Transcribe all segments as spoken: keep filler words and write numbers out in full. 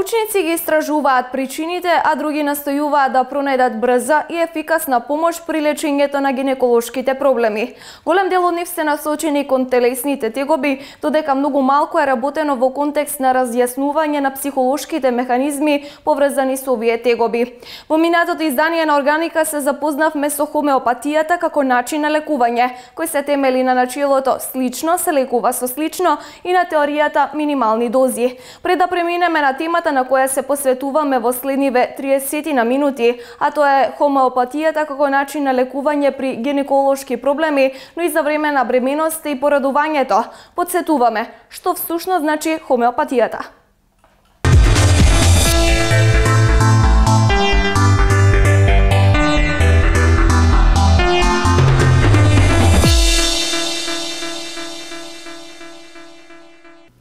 Научници ги истражуваат причините, а други настојуваат да пронајдат брза и ефикасна помош при лечењето на гинеколошките проблеми. Голем дел од нив се насочени кон телесните тегоби, додека многу малку е работено во контекст на разјаснување на психолошките механизми поврзани со овие тегоби. Во минатото издание на Органика се запознавме со хомеопатијата како начин на лекување, кој се темели на начелото слично се лекува со слично и на теоријата минимални дози. Пред да преминеме на темата на која се посветуваме во следниве триесет на минути, а тоа е хомеопатијата како начин на лекување при гинеколошки проблеми, но и за време на бременост и порадувањето. Подсетуваме што всушност значи хомеопатијата.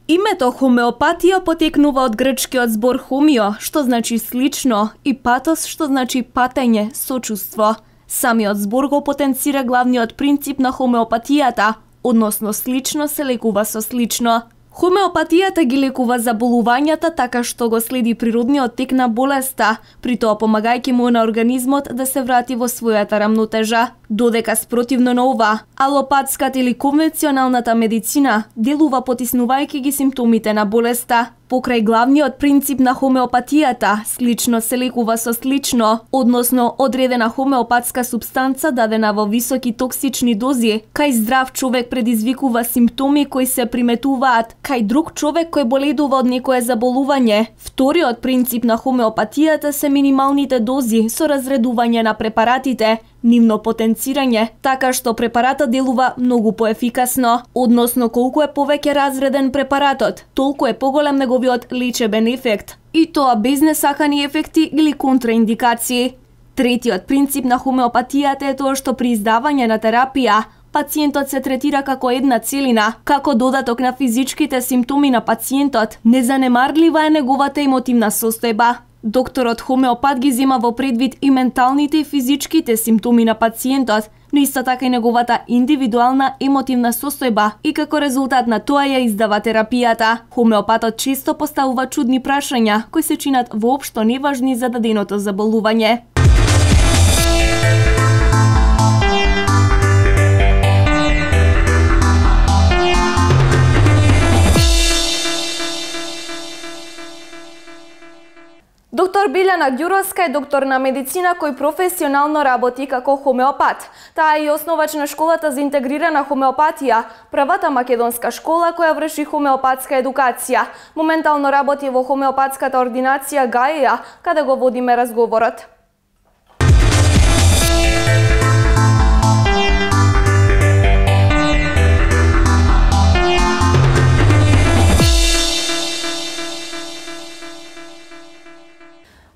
Името хомеопатија потекнува од грчкиот збор хомио, што значи слично, и патос, што значи патење, сочувство. Самиот збор го потенцира главниот принцип на хомеопатијата, односно слично се лекува со слично. Хомеопатијата ги лекува заболувањата така што го следи природниот тек на болеста, при тоа помагајќи му на организмот да се врати во својата рамнотежа. Додека спротивно на ова, алопатската или конвенционалната медицина делува потиснувајќи ги симптомите на болеста. Покрај главниот принцип на хомеопатијата, слично се лекува со слично, односно одредена хомеопатска супстанца дадена во високи токсични дози, кај здрав човек предизвикува симптоми кои се приметуваат кај друг човек кој боледува од некое заболување. Вториот принцип на хомеопатијата се минималните дози со разредување на препаратите, нивно потенцирање, така што препаратот делува многу поефикасно, односно колку е повеќе разреден препаратот, толку е поголем неговиот лечебен ефект, и тоа без несакани ефекти или контраиндикации. Третиот принцип на хомеопатијата е тоа што при издавање на терапија, пациентот се третира како една целина, како додаток на физичките симптоми на пациентот, незанемарлива е неговата емотивна состојба. Докторот хомеопат ги зема во предвид и менталните и физичките симптоми на пациентот, но исто така и неговата индивидуална емотивна состојба и како резултат на тоа ја издава терапијата. Хомеопатот често поставува чудни прашања кои се чинат воопшто неважни за даденото заболување. Доктор Билјана Ѓуровска е доктор на медицина кој професионално работи како хомеопат. Таа е и основач на школата за интегрирана хомеопатија, првата македонска школа која врши хомеопатска едукација. Моментално работи во хомеопатската ординација Гаја, каде го водиме разговорот.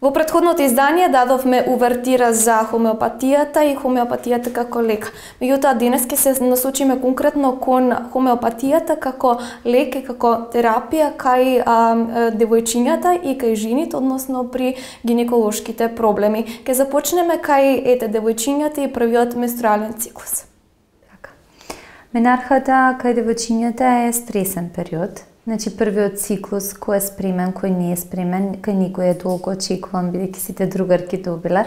Во претходното издание дадовме увертира за хомеопатијата и хомеопатијата како лек. Меѓутоа денес ќе се насочиме конкретно кон хомеопатијата како лек и како терапија кај а, девојчињата и кај жените, односно при гинеколошките проблеми. Ќе започнеме кај ете девојчињата и првиот менструален циклус. Така. Менархата кај девојчињата е стресен период. Значи, првиот циклус, кој е спремен, кој не е спремен, кај никој е толку очекуван, бидејќи сите другарки добиле,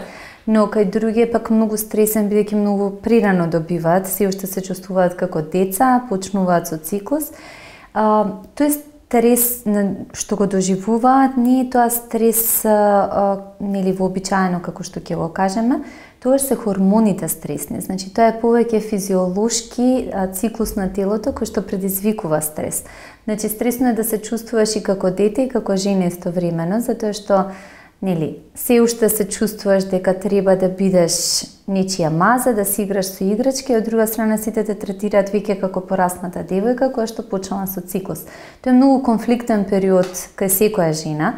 но кај други е пак многу стресен, бидејќи многу прирано добиваат, се уште се чувствуваат како деца, почнуваат со циклус. А, тој стрес што го доживуваат, не е тоа стрес а, а, нели вообичаено како што ќе го кажеме, тоа се хормоните стресни. Значи, тоа е повеќе физиолошки а, циклус на телото кој што предизвикува стрес. Значи, стресно е да се чувствуваш и како дете и како жена истовремено, затоа што нели, се уште се чувствуваш дека треба да бидеш нечија маза, да си играш со играчки, од друга страна сите те третираат веќе како порасната девојка која што почнала со циклус. Тоа е многу конфликтен период кај секоја жена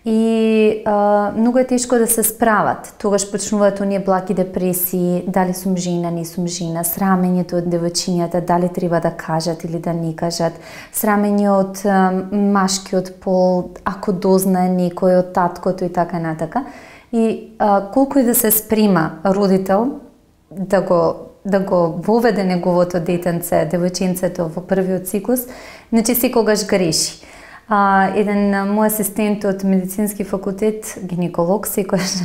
и а, многу е тешко да се справат. Тогаш почнуваат оние блаки депресии, дали сум жена, не сум жена, срамењето од девојчињата, дали треба да кажат или да не кажат, срамење од а, машкиот пол, ако дознае некој од таткото и така натака. И а, колку и да се спрема родител да го да го воведе неговото детенце, девојченцето во првиот циклус, значи секогаш греши. А, еден мој асистент од медицински факултет, гинеколог, секојаш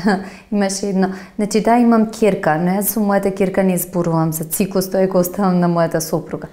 имаше едно, значи да, имам ќерка, но јас со мојата ќерка не зборувам за циклус, тој го оставам на мојата сопруга.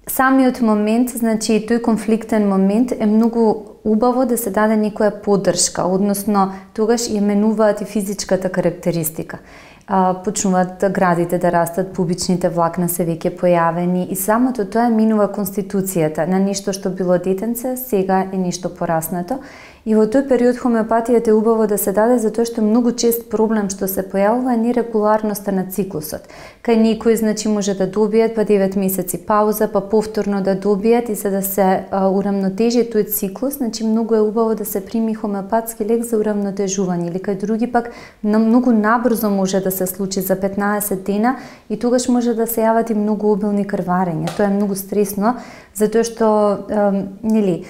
Самиот момент, значи тој конфликтен момент е многу убаво да се даде некоја поддршка, односно тогаш ја менуваат и физичката карактеристика. А, почнуваат да градите да растат, пубичните влакна се веќе појавени и самото тоа минува конституцијата на нешто што било детенце, сега е нешто пораснато. И во тој период хомеопатијата е убаво да се даде затоа што многу чест проблем што се појавува е нерегуларноста на циклусот. Кај некои значи може да добијат па девет месеци пауза, па повторно да добијат и за да се а, урамнотежи тој циклус, значи многу е убаво да се прими хомеопатски лек за урамнотежување, или кај други пак многу набрзо може да се случи за петнаесет дена и тогаш може да се јават и многу обилни крварења. Тоа е многу стресно затоа што е, нели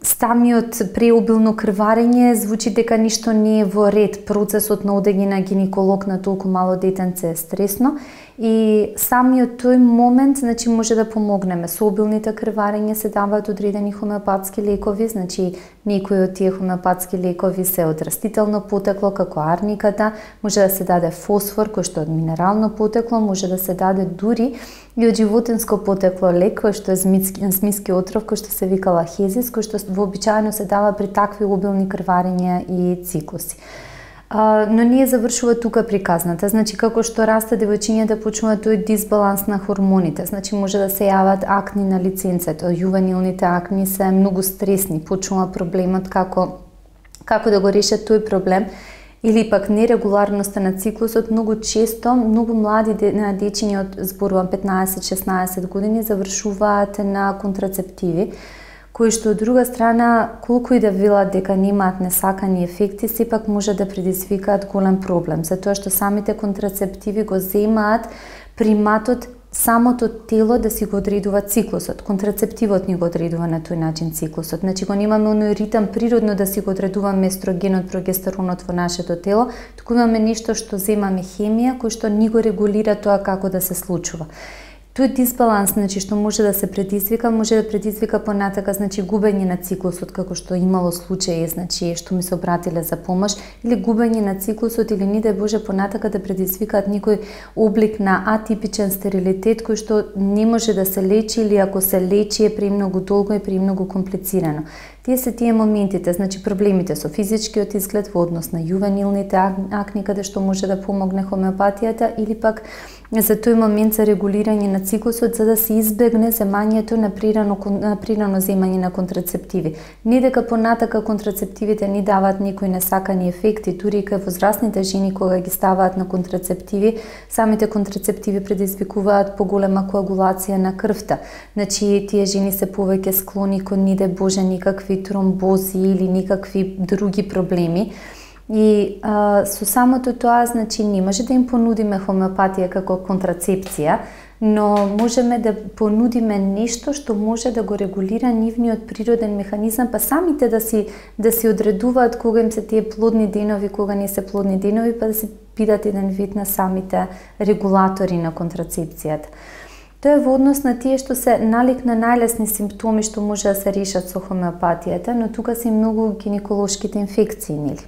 самиот преобилно крварење звучи дека ништо не е во ред. Процесот на одење на гинеколог на толку мало детенце е стресно и самиот тој момент значи може да помогнеме. Со обилните крварења се даваат одредени хомеопатски лекови, значи некои од тие хомеопатски лекови се од растително потекло како арниката, може да се даде фосфор кој што е од минерално потекло, може да се даде дури и од животинско потекло лек кој што е змиски, змиски отров кој што се вика лахезис, кој што вообичаено се дава при такви обилни крварења и циклуси. А, но не завршува тука приказната. Значи, како што расте девојчињата почнува тој дисбаланс на хормоните. Значи, може да се јават акни на лиценцето. Јувенилните акни се многу стресни. Почнува проблемот како, како да го решат тој проблем. Или пак нерегуларноста на циклусот. Многу често, многу млади дечиња од зборувам петнаесет-шеснаесет години завршуваат на контрацептиви, кои што од друга страна, колку и да велат дека немаат несакани ефекти, сепак може да предизвикаат голем проблем, затоа што самите контрацептиви го земаат приматот самото тело да си го одредува циклусот. Контрацептивот ни го одредува на тој начин циклусот. Значи го немаме оној ритам природно да си го одредуваме естрогенот, прогестеронот во нашето тело, туку имаме нешто што земаме хемија, кој што ни го регулира тоа како да се случува. Тој дисбаланс, значи, што може да се предизвика, може да предизвика понатака, значи, губење на циклусот, како што имало случаи, значи, што ми се обратиле за помош, или губење на циклусот, или не дај Боже понатака да предизвикаат некој облик на атипичен стерилитет, кој што не може да се лечи, или ако се лечи е премногу долго и премногу комплицирано. Тие се тие моментите, значи проблемите со физичкиот изглед во однос на јувенилните акни, каде што може да помогне хомеопатијата, или пак за тој момент за регулирање на циклусот, за да се избегне земањето на прирано, на прирано земање на контрацептиви. Не дека понатака контрацептивите ни даваат некои несакани ефекти, дури кај возрастните жени кога ги ставаат на контрацептиви, самите контрацептиви предизвикуваат поголема коагулација на крвта. Значи, тие жени се повеќе склони кон, не дај Боже, никакви тромбози или никакви други проблеми. И а, со самото тоа, значи, не може да им понудиме хомеопатија како контрацепција, но можеме да понудиме нешто што може да го регулира нивниот природен механизам, па самите да си да си одредуваат кога им се тие плодни денови, кога не се плодни денови, па да се бидат еден вид на самите регулатори на контрацепцијата. Тоа е во однос на тие што се налик на најлесни симптоми што може да се решат со хомеопатијата, но тука се и многу гинеколошките инфекции, нели?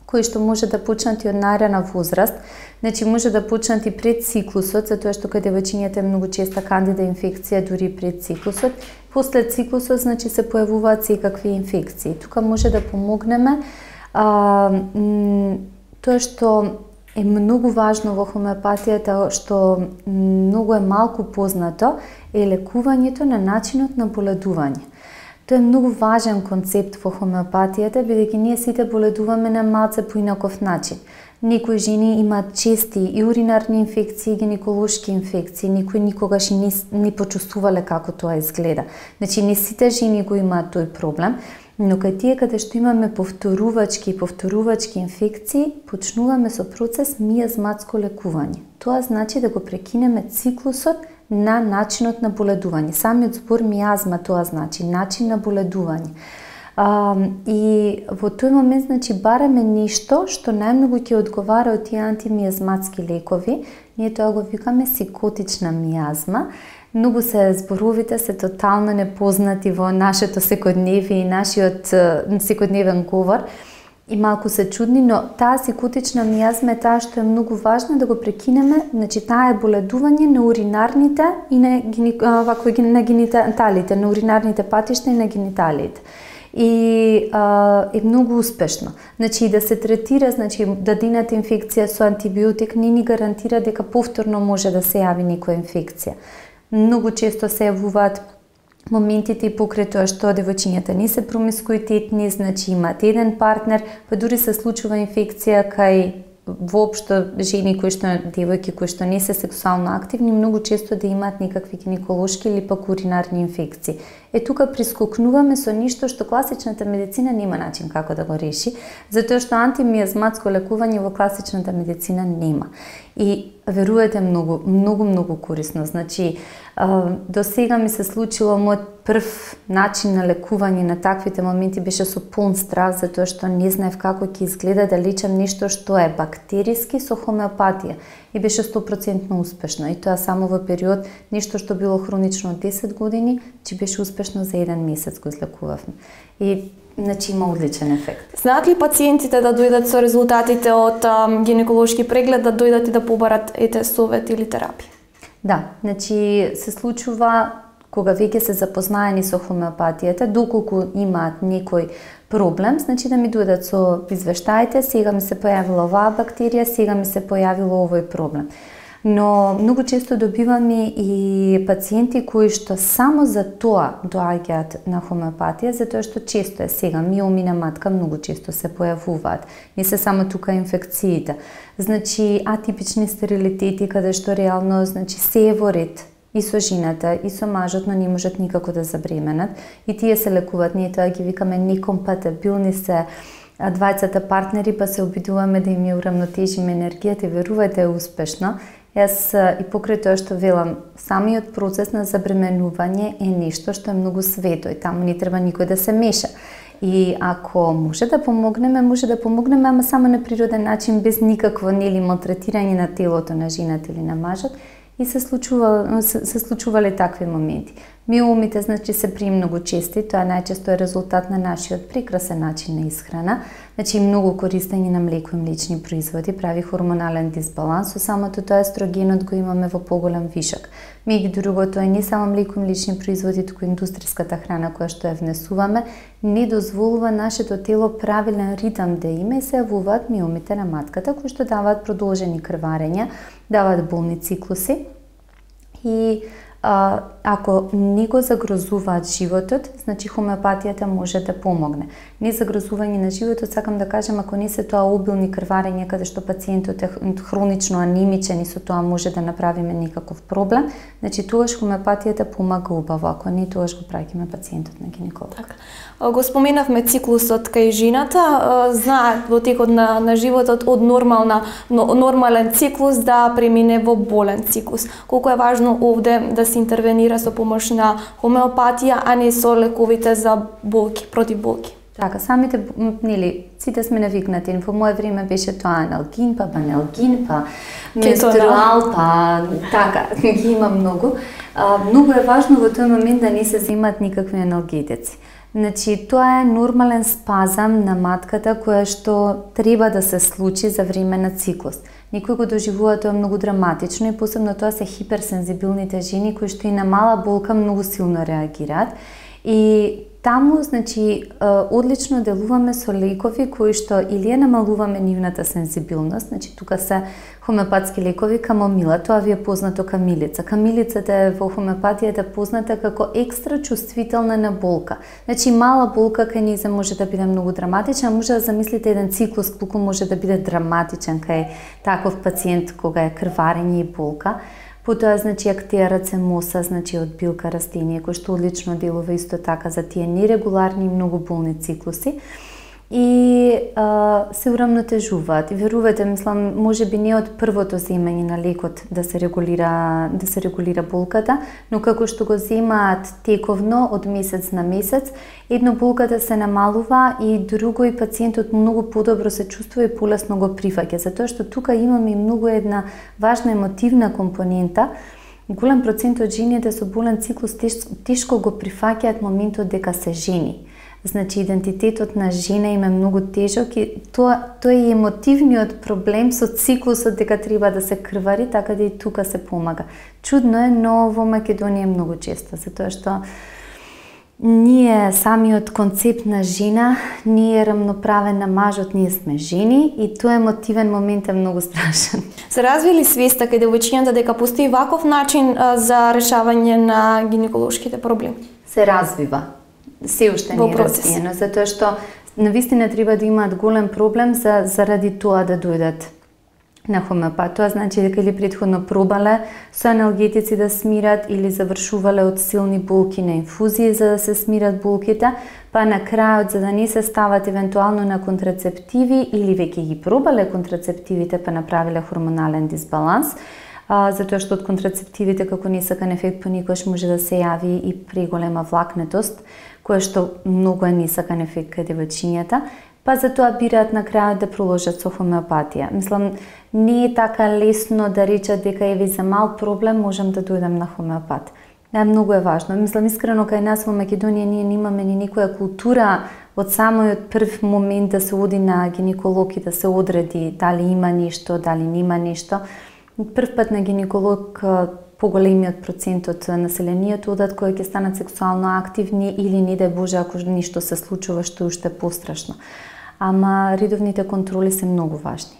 Кои што може да почнат и од најрана возраст, значи може да почнат и пред циклусот, затоа што кај девојчињата е многу честа кандида инфекција дури пред циклусот. После циклусот, значи, се појавуваат секакви инфекции. Тука може да помогнеме а, тоа што е многу важно во хомеопатијата, што многу е малку познато, е лекувањето на начинот на боледување. Тоа е многу важен концепт во хомеопатијата, бидејќи ние сите боледуваме на малце поинаков начин. Некои жени имаат чести и уринарни инфекции, и гинеколошки инфекции, некои никогаш не, не почувствувале како тоа изгледа. Значи, не сите жени го имаат тој проблем, но кај тие каде што имаме повторувачки и повторувачки инфекции, почнуваме со процес мијазматско лекување. Тоа значи да го прекинеме циклусот на начинот на боледување. Самиот збор мијазма тоа значи начин на боледување. А, и во тој момент, значи, бараме нешто што најмногу ќе одговара од тие антимијазматски лекови. Ние тоа го викаме сикотична мијазма. Многу се зборовите се тотално непознати во нашето секојдневие и нашиот секојдневен говор и малку се чудни, но таа сикутична мијазма е таа што е многу важна да го прекинеме, значи таа е боледување на уринарните и на, вако, на гениталите, на уринарните патишта и на гениталиите. И а, е многу успешно. Значи да се третира, значи дадената инфекција со антибиотик не ни гарантира дека повторно може да се јави некоја инфекција. Многу често се јавуваат моментите и покрај тоа што девојчињата не се промискуитетни, значи имаат еден партнер, па дури се случува инфекција кај воопшто жени кои што девојки кои што не се сексуално активни, многу често да имаат некакви гинеколошки или пак уринарни инфекции. Е тука прискокнуваме со ништо што класичната медицина нема начин како да го реши, затоа што антимијазматско лекување во класичната медицина нема. И верувате, многу, многу, многу корисно. Значи, до сега ми се случило мојот прв начин на лекување на таквите моменти беше со полн страх, затоа што не знаев како ќе изгледа да лечам нешто што е бактериски со хомеопатија. И беше сто проценти успешно. И тоа само во период, нешто што било хронично од десет години, че беше успешно за еден месец го излекувавме. И значи има одличен ефект. Знаат ли пациентите да дојдат со резултатите од ам, гинеколошки преглед, да дојдат и да побарат ете совет или терапија? Да, значи се случува кога веќе се запознаени со хомеопатијата, доколку имаат некој проблем, значи да ми дојдат со извештаите, сега ми се појавила оваа бактерија, сега ми се појавило овој проблем. Но многу често добиваме и пациенти кои што само за тоа доаѓаат на хомеопатија, затоа што често е сега миоми на матка многу често се појавуваат. Не се само тука инфекциите. Значи атипични стерилитети каде што реално значи се е во ред и со жената и со мажот, но не можат никако да забременат. И тие се лекуваат, ние тоа ги викаме некомпатибилни се двајцата партнери, па се обидуваме да им ја урамнотежиме енергијата и верувајте е успешно. Јас и покрај тоа што велам, самиот процес на забременување е нешто што е многу свето и таму не треба никој да се меша. И ако може да помогнеме, може да помогнеме, ама само на природен начин, без никакво нели малтретирање на телото на жената или на мажот. И се случува се, се случувале такви моменти. Миомите значи се при многу чести, тоа најчесто е резултат на нашиот прекрасен начин на исхрана. Значи многу користење на млеко и млечни производи прави хормонален дисбаланс, со самото тоа естрогенот го имаме во поголем вишок. Меѓу другото е не само млеко и млечни производи, туку индустријската храна која што ја внесуваме не дозволува нашето тело правилен ритам да има и се јавуваат миомите на матката кои што даваат продолжени крварења, даваат болни циклуси и а, ако не го загрозуваат животот, значи хомеопатијата може да помогне. Не загрозување на животот, сакам да кажам, ако не се тоа обилни крварења каде што пациентот е хронично анемичен и со тоа може да направиме некаков проблем, значи тогаш хомеопатијата помага убаво, ако не тогаш го праќаме пациентот на гинеколог. Така. Го споменавме циклусот кај жената, знаат во текот на, на животот од нормална, нормален циклус да премине во болен циклус. Колку е важно овде да се интервенира со помош на хомеопатија, а не со лековите за болки, против болки. Така, самите, нели, сите сме навикнати. Во моје време беше тоа аналгин, па баналгин, па менструал, па така, ги има многу. А, многу е важно во тој момент да не се земат никакви аналгетици. Значи, тоа е нормален спазам на матката која што треба да се случи за време на циклус. Некој го доживува тоа многу драматично и посебно тоа се хиперсензибилните жени кои што и на мала болка многу силно реагираат. И таму, значи, одлично делуваме со лекови кои што или ја намалуваме нивната сензибилност, значи тука се хомеопатски лекови, камомила, тоа ви е познато камилица. Камилицата е во хомеопатијата позната како екстра чувствителна на болка. Значи мала болка кај нејзе може да биде многу драматична, може да замислите еден циклус колку може да биде драматичен кај таков пациент кога е крварење и болка. Потоа, значи, актеа рацемоса, значи, од билка растение, кој што одлично делува исто така за тие нерегуларни и многу болни циклуси. И а, се урамнотежуваат. И верувате, мислам, може би не од првото земање на лекот да се регулира, да се регулира болката, но како што го земаат тековно од месец на месец, едно болката се намалува и друго и пациентот многу подобро се чувствува и полесно го прифаќа, затоа што тука имаме и многу една важна емотивна компонента голем процент од жените со болен циклус тешко го прифаќаат моментот дека се жени. Значи, идентитетот на жена им е многу тежок и тоа, тоа е емотивниот проблем со циклусот дека треба да се крвари, така да и тука се помага. Чудно е, но во Македонија е многу често, затоа што ние самиот концепт на жена не е рамноправен на мажот, ние сме жени и тој емотивен момент е многу страшен. Се развили свеста каде веќината дека постои ваков начин а, за решавање на гинеколошките проблеми? Се развива. Се уште не е развиено, затоа што навистина треба да имаат голем проблем за, заради тоа да дојдат на хомеопат. Тоа значи дека или претходно пробале со аналгетици да смират или завршувале од силни болки на инфузии за да се смират болките, па на крајот за да не се стават евентуално на контрацептиви или веќе ги пробале контрацептивите па направиле хормонален дисбаланс, а, затоа што од контрацептивите како несакан ефект понекогаш може да се јави и преголема влакнетост, која што многу е несакан ефект каде девојчињата, па затоа бираат на крајот да продолжат со хомеопатија. Мислам, не е така лесно да речат дека еве за мал проблем можам да дојдам на хомеопат. Да, многу е важно. Мислам, искрено кај нас во Македонија ние немаме ни никоја култура од самиот прв момент да се оди на гинеколог и да се одреди дали има нешто, дали нема нешто. Прв пат на гинеколог поголемиот процент од населението одат кои ќе станат сексуално активни или не дај Боже ако нешто се случува што уште пострашно. Ама редовните контроли се многу важни.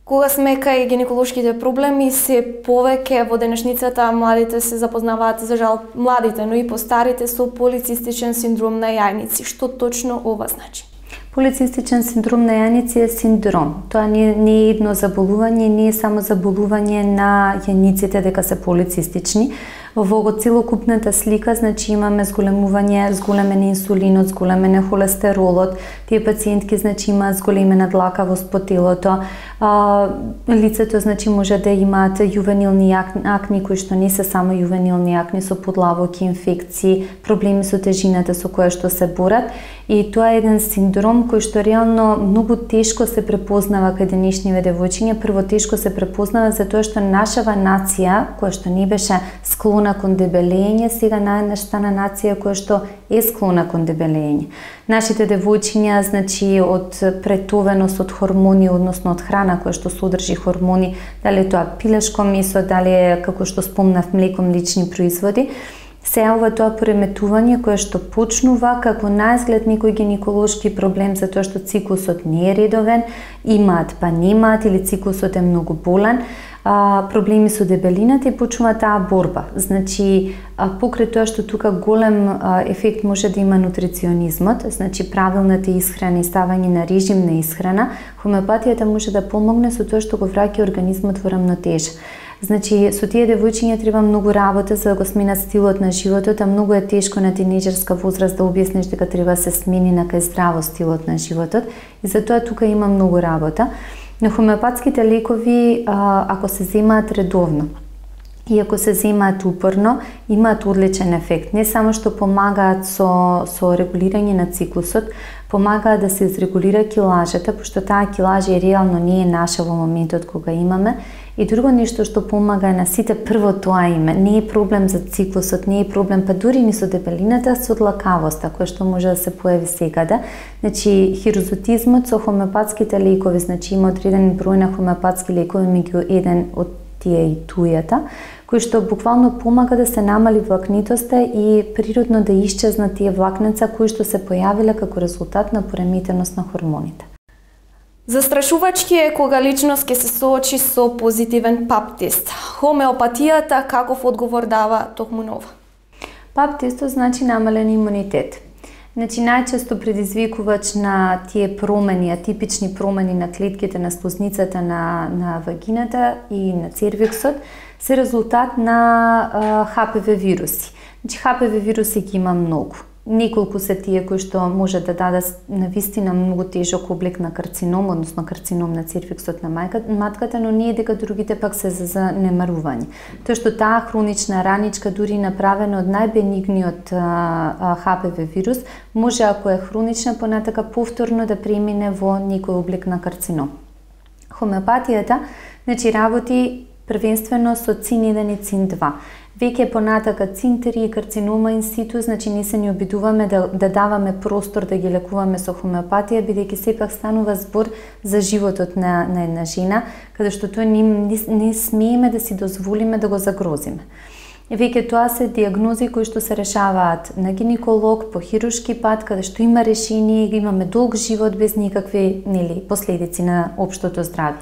Кога сме кај гинеколошките проблеми, се повеќе во денешницата младите се запознаваат, за жал младите, но и постарите со полицистичен синдром на јајници. Што точно ова значи? Полицистичен синдром на јајници е синдром. Тоа не, не е едно заболување, не е само заболување на јајниците дека се полицистични. Во целокупната слика, значи имаме зголемување, зголемен инсулинот, зголемен холестеролот, тие пациентки значи имаат зголемена длакавост по телото, а, лицето значи може да имаат јувенилни акни кои што не се само јувенилни акни, со подлавоки, инфекции, проблеми со тежината со која што се борат и тоа е еден синдром кој што реално многу тешко се препознава кај денешниве девојчиња. Прво тешко се препознава затоа што нашава нација која што не беше склона кон дебелење, сега наеднаш стана нација која што е склона кон дебелење. Нашите девојчиња, значи, од претовеност од хормони, односно од храна која што содржи хормони, дали тоа пилешко месо, дали е, како што спомнав, млеко, млечни производи, се ова тоа пореметување кое што почнува како наизглед некој гинеколошки проблем затоа што циклусот не е редовен, имаат па немаат или циклусот е многу болен, а, проблеми со дебелината и почнува таа борба. Значи, а, покрај тоа што тука голем а, ефект може да има нутриционизмот, значи правилната исхрана и ставање на режим на исхрана, хомеопатијата може да помогне со тоа што го враќа организмот во рамнотежа. Значи, со тие девојчиња треба многу работа за да го сменат стилот на животот, а многу е тешко на тинејџерска возраст да објасниш дека треба да се смени на кај здраво стилот на животот и затоа тука има многу работа. Но хомеопатските лекови, ако се земаат редовно и ако се земаат упорно, имаат одличен ефект. Не само што помагаат со, со регулирање на циклусот, помагаат да се изрегулира килажата, пошто таа килажа е реално не е наша во моментот кога имаме. И друго нешто што помага на сите, прво тоа име, не е проблем за циклусот, не е проблем па дури ни со дебелината, со длакавоста, која што може да се појави секаде. Значи, хирозотизмот со хомеопатските лекови, значи има одреден број на хомеопатски лекови, меѓу еден од тие и тујата, кој што буквално помага да се намали влакнитоста и природно да исчезнат тие влакнеца кои што се појавиле како резултат на пореметеност на хормоните. Застрашувачки е кога личност ќе се соочи со позитивен пап тест. Хомеопатијата каков одговор дава токму на ова? Пап тестот значи намален имунитет. Значи, најчесто предизвикувач на тие промени, атипични промени на клетките на слузницата на, на вагината и на цервиксот, се резултат на Х П В вируси. Значи, Х П В вируси ги има многу. Неколку се тие кои што може да дадат навистина многу тежок облик на карцином, односно карцином на цервиксот на матката, но не е дека другите пак се за занемарување. Тоа што таа хронична раничка, дури направена од најбенигниот Х П В вирус, може ако е хронична понатака повторно да премине во некој облик на карцином. Хомеопатијата, значи, работи првенствено со цин еден и цин два. Веќе понатака цин три и карцинома инситу, значи не се ни обидуваме да, да даваме простор да ги лекуваме со хомеопатија, бидејќи сепак станува збор за животот на, на една жена, каде што тоа не, не, не смееме да си дозволиме да го загрозиме. Веќе тоа се диагнози кои што се решаваат на гинеколог, по хируршки пат, каде што има решение, имаме долг живот без никакви нели, последици на општото здравје.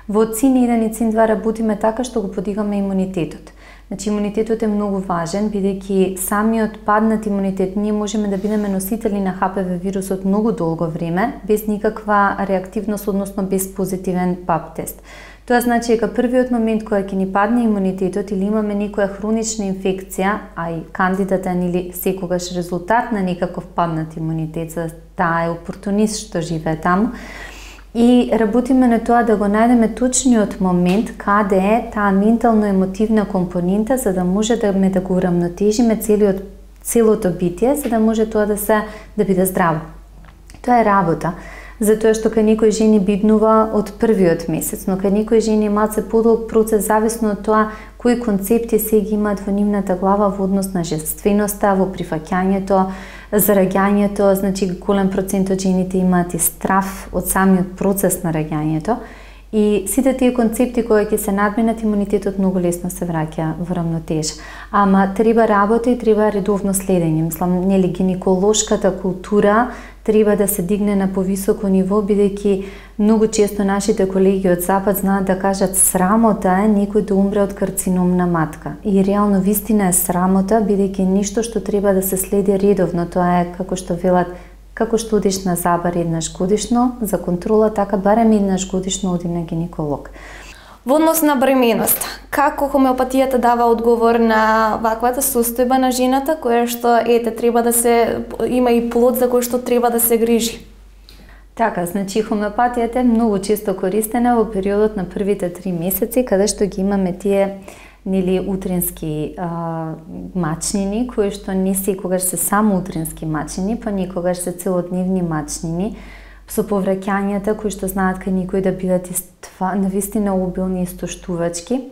Во цин еден и цин два работиме така што го подигаме имунитетот. Значи, имунитетот е многу важен, бидејќи самиот паднат имунитет, ние можеме да бидеме носители на Х П В вирусот многу долго време, без никаква реактивност, односно без позитивен пап тест. Тоа значи дека првиот момент кога ќе ни падне имунитетот или имаме некоја хронична инфекција, а и кандидата или секогаш резултат на некаков паднат имунитет, за таа е опортунист што живее таму, и работиме на тоа да го најдеме точниот момент каде е таа ментално-емотивна компонента, за да може да ме да го урамнотежиме целиот целото битие, за да може тоа да се да биде здраво. Тоа е работа, затоа што кај некои жени биднува од првиот месец, но кај некои жени е малце подолг процес зависно од тоа кои концепти се ги имаат во нивната глава во однос на женственоста, во прифаќањето, за раѓањето, значи голем процент од жените имаат и страф од самиот процес на раѓањето. И сите тие концепти кои ќе се надминат, имунитетот многу лесно се враќа во рамнотежа. Ама треба работа и треба редовно следење. Мислам, нели гинеколошката култура треба да се дигне на повисоко ниво, бидејќи многу често нашите колеги од Запад знаат да кажат срамота е некој да умре од карцином на матка. И реално вистина е срамота, бидејќи ништо што треба да се следи редовно. Тоа е како што велат, како што одиш на забар еднаш годишно за контрола, така барем еднаш годишно оди на гинеколог. Во однос на бременост, како хомеопатијата дава одговор на ваквата состојба на жената која што ете треба да се има и плод за кој што треба да се грижи? Така, значи хомеопатијата е многу често користена во периодот на првите три месеци, каде што ги имаме тие нели утрински а, мачнини, кои што не секогаш се само утрински мачнини, па некогаш се целодневни мачнини, со повраќањата кои што знаат кај никој да бидат иства, навистина обилни и истоштувачки.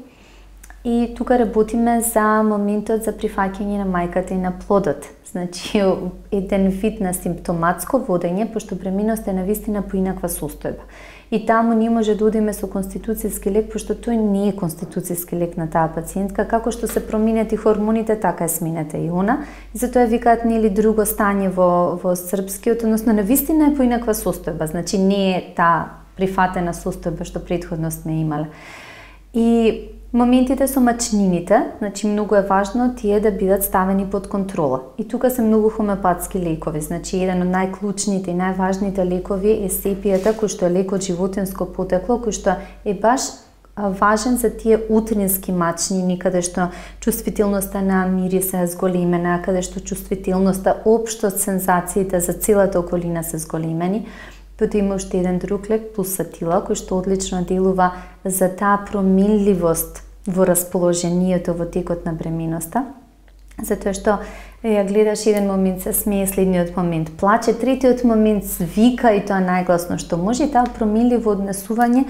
И тука работиме за моментот за прифаќање на мајката и на плодот. Значи, еден вид на симптоматско водење, пошто бременоста е навистина поинаква состојба. И таму не може да одиме со конституцијски лек, пошто тој не е конституцијски лек на таа пациентка, како што се променет и хормоните, така е сменета и она. И затоа викаат нели друго стање во во српскиот, односно навистина е поинаква состојба, значи не е таа прифатена состојба што претходно сме имале. И моментите со мачнините, значи многу е важно тие да бидат ставени под контрола. И тука се многу хомеопатски лекови, значи еден од најклучните и најважните лекови е сепијата, кој што е лек од животинско потекло, кој што е баш важен за тие утрински мачнини, каде што чувствителноста на мириса е зголемена, каде што чувствителноста, општо сензациите за целата околина се зголемени. Потоа има уште еден друг лек, пулсатила, кој што одлично делува за таа променливост во расположението во текот на бременоста. Затоа што ја гледаш еден момент се смее, следниот момент плаче, третиот момент вика и тоа најгласно што може. И таа променливо однесување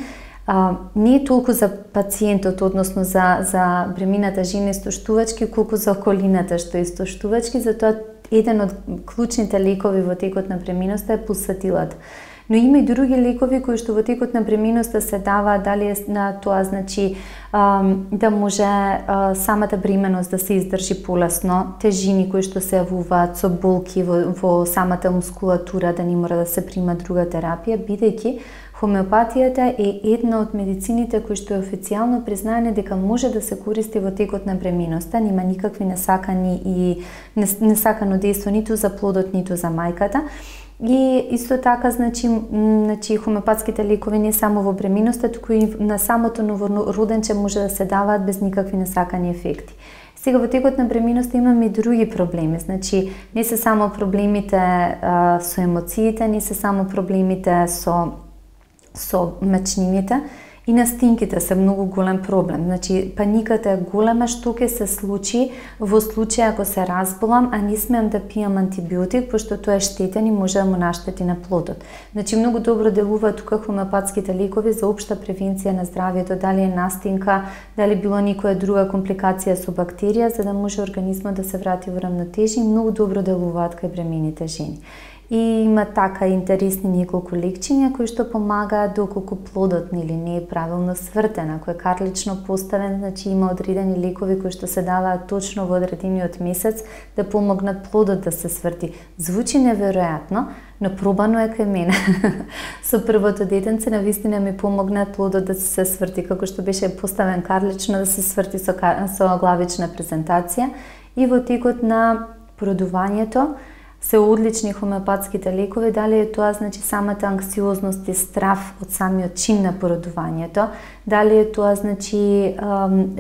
а, не е толку за пациентот, односно за, за бремената жена истоштувачки, колку за околината што е истоштувачки, затоа еден од клучните лекови во текот на бременоста е пулсатилата. Но има и други лекови кои што во текот на бременоста се дава, дали е на тоа значи да може самата бременост да се издржи полесно, тежини кои што се јавуваат со болки во, во самата мускулатура, да не мора да се прима друга терапија, бидејќи хомеопатијата е една од медицините кои што е официјално признаени дека може да се користи во текот на бременоста, нема никакви несакани и несакано дејство ниту за плодот, ниту за мајката. И исто така, значи, значи хомеопатските лекови не само во бременоста, туку и на самото новороденче може да се даваат без никакви несакани ефекти. Сега во текот на бременоста имаме и други проблеми, значи не се само проблемите а, со емоциите, не се само проблемите со со мачнините, И настинките се многу голем проблем. Значи, паниката е голема, што ќе се случи во случај ако се разболам, а не смеам да пијам антибиотик, пошто тоа е штетен и може да му наштети на плодот. Значи, многу добро делуваат тука хомеопатските лекови за општа превенција на здравјето, дали е настинка, дали било некоја друга компликација со бактерија, за да може организмот да се врати во рамнотежи, и многу добро делуваат кај бремените жени. И има така интересни неколку лекчиња кои што помагаат доколку плодот нели не е правилно свртен, ако е карлично поставен, значи има одредени лекови кои што се даваат точно во одредениот месец да помогнат плодот да се сврти. Звучи неверојатно, но пробано е кај мене. Со првото детенце навистина ми помогна плодот да се сврти, како што беше поставен карлично да се сврти со, со главична презентација, и во текот на породувањето се одлични хомеопатските лекови, дали е тоа значи самата анксиозност и страф од самиот чин на породувањето, дали е тоа значи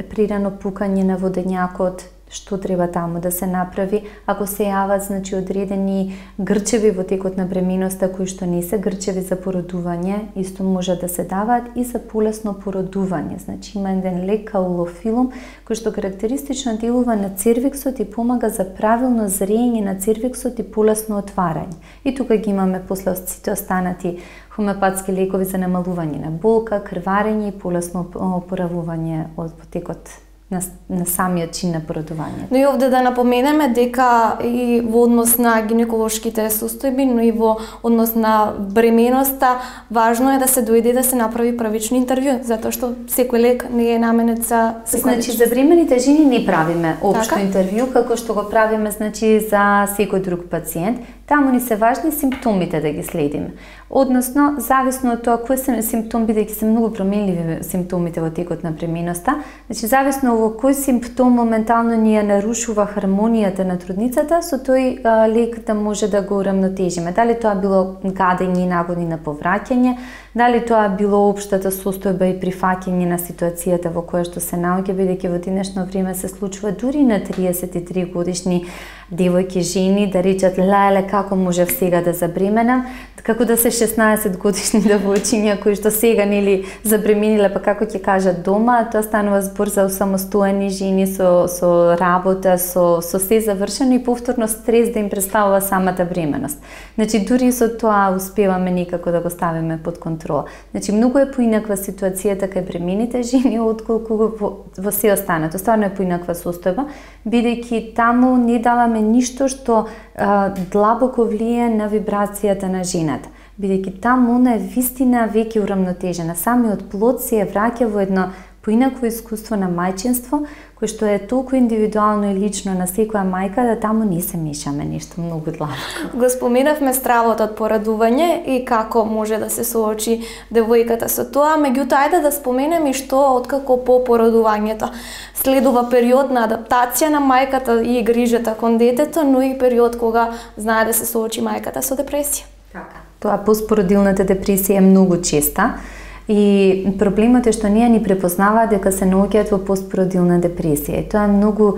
прирано пукање на водењакот, што треба таму да се направи, ако се јават значи одредени грчеви во текот на бременоста кои што не се грчеви за породување, исто може да се даваат и за полесно породување. Значи има еден лек каулофилум кој што карактеристично делува на цервиксот и помага за правилно зрење на цервиксот и полесно отварање. И тука ги имаме после сите останати хомеопатски лекови за намалување на болка, крварење и полесно опоравување од потекот на, на самиот чин на породување. Но и овде да напоменеме дека и во однос на гинеколошките состојби, но и во однос на бременоста, важно е да се дојде да се направи првично интервју, затоа што секој лек не е наменет за секој. Значи за бремените жени не правиме општо така? Интервју, како што го правиме значи за секој друг пациент. Таму ни се важни симптомите да ги следиме. Односно, зависно од тоа кои се симптоми, бидејќи се многу променливи симптомите во текот на бременоста, значи зависно во кој симптом моментално ни ја нарушува хармонијата на трудницата, со тој а, лек да може да го урамнотежиме. Дали тоа било гадење и нагони на повраќање, дали тоа било општата состојба и прифаќање на ситуацијата во која што се наоѓа, бидејќи во денешно време се случува дури на триесет и три годишни девојки, жени да речат леле како можев сега да забременам, како да се шеснаесет годишни девојчиња кои што сега нели забремениле, па како ќе кажат дома, тоа станува збор за самостојни жени со со работа, со со се завршено и повторно стрес да им представува самата бременост. Значи дури со тоа успеваме некако да го ставиме под контрола. Значи многу е поинаква ситуацијата кај бремените жени отколку во, во се останато. Стварно е поинаква состојба, бидејќи таму не даваме ништо што а, длабоко влие на вибрацијата на жената. Бидејќи таму она е вистина веќе урамнотежена. Самиот плод се враќа во едно поинакво искуство на мајчинство, кој што е толку индивидуално и лично на секоја мајка, да таму не се мешаме нешто многу длабоко. Го споменавме стравот од порадување и како може да се соочи девојката со тоа, меѓутоа ајде да споменеме и што откако по порадувањето следува период на адаптација на мајката и грижата кон детето, но и период кога знае да се соочи мајката со депресија. Така. Тоа постпородилната депресија е многу честа. И проблемот е што ние ни препознаваат дека се наоѓаат во постпородилна депресија. И тоа е многу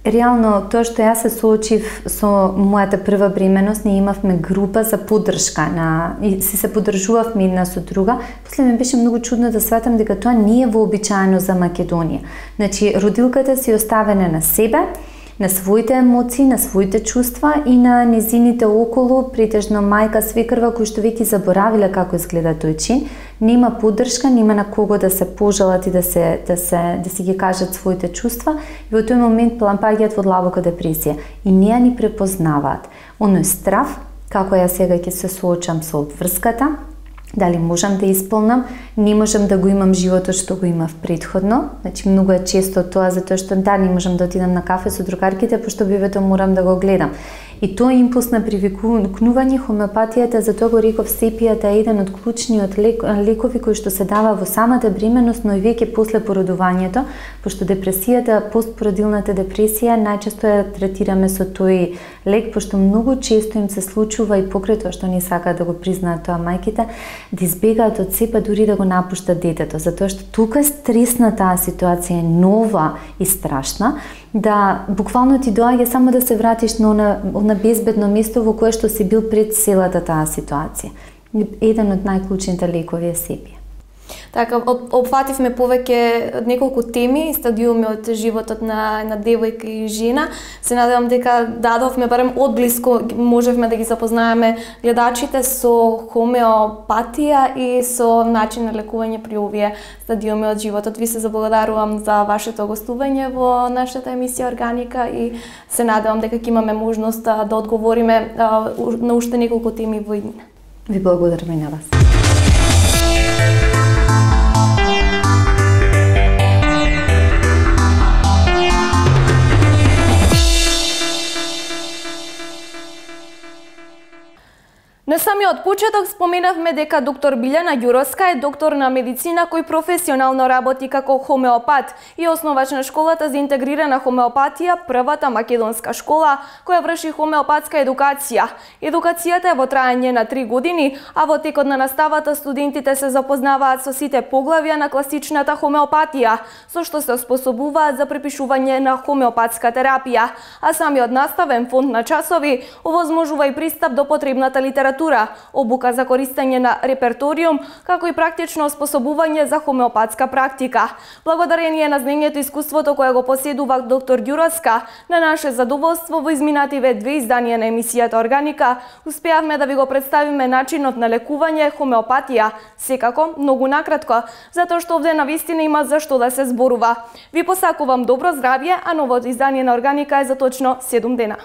реално тоа што јас се соочив со мојата прва бременост, ние имавме група за поддршка на и си се поддржувавме една со друга. После ми беше многу чудно да сватам дека тоа не е вообичаено за Македонија. Значи родилката си оставена на себе, на своите емоции, на своите чувства и на незините околу, претежно мајка, свекрва, кои што веќе заборавиле како изгледа тој чин, нема поддршка, нема на кого да се пожалат и да се да се да си ги кажат своите чувства, и во тој момент паѓаат во длабока депресија и не ја ни препознаваат. Оној страв, како ја сега ќе се соочам со обврската, дали можам да исполнам, не можам да го имам животот што го имав претходно. Значи многу е често тоа затоа што да не можам да отидам на кафе со другарките, пошто бебето морам да го гледам. И тоа импулс на привикнување, хомеопатијата, затоа го реков, сепијата е еден од клучниот лек, лекови кои што се дава во самата бременост, но и веќе после породувањето, пошто депресијата, постпородилната депресија, најчесто ја третираме со тој лек, пошто многу често им се случува и покрај тоа што не сакаат да го признаат тоа мајките, да избегаат од себе, дури да го напуштат детето, затоа што тука е стресна таа ситуација, е нова и страшна, да буквално ти доаѓа само да се вратиш на она, она безбедно место во кое што си бил пред целата таа ситуација. Еден од најклучните лекови е сепија. Така, опфативме повеќе неколку теми, стадиуми од животот на на девојка и жена. Се надевам дека дадовме барем одблиску, можевме да ги запознаеме гледачите со хомеопатија и со начин на лекување при овие стадиуми од животот. Ви се заблагодарувам за вашето гостување во нашата емисија Органика и се надевам дека ќе имаме можност да, да одговориме а, на уште неколку теми во иднина. Ви благодарам и на вас. На самиот почеток споменавме дека доктор Билјана Ѓуровска е доктор на медицина кој професионално работи како хомеопат и основач на школата за интегрирана хомеопатија, првата македонска школа која врши хомеопатска едукација. Едукацијата е во траење на три години, а во текот на наставата студентите се запознаваат со сите поглавја на класичната хомеопатија, со што се оспособуваат за препишување на хомеопатска терапија, а самиот наставен фонд на часови овозможува и пристап до потребната литература, обука за користење на реперториум, како и практично оспособување за хомеопатска практика. Благодарение на знаењето и искуството кое го поседува доктор Ѓуровска, на наше задоволство во изминативе две изданија на емисијата Органика, успеавме да ви го представиме начинот на лекување хомеопатија, секако многу накратко, затоа што овде навистина има за што да се зборува. Ви посакувам добро здравје, а новото издание на Органика е за точно седум дена.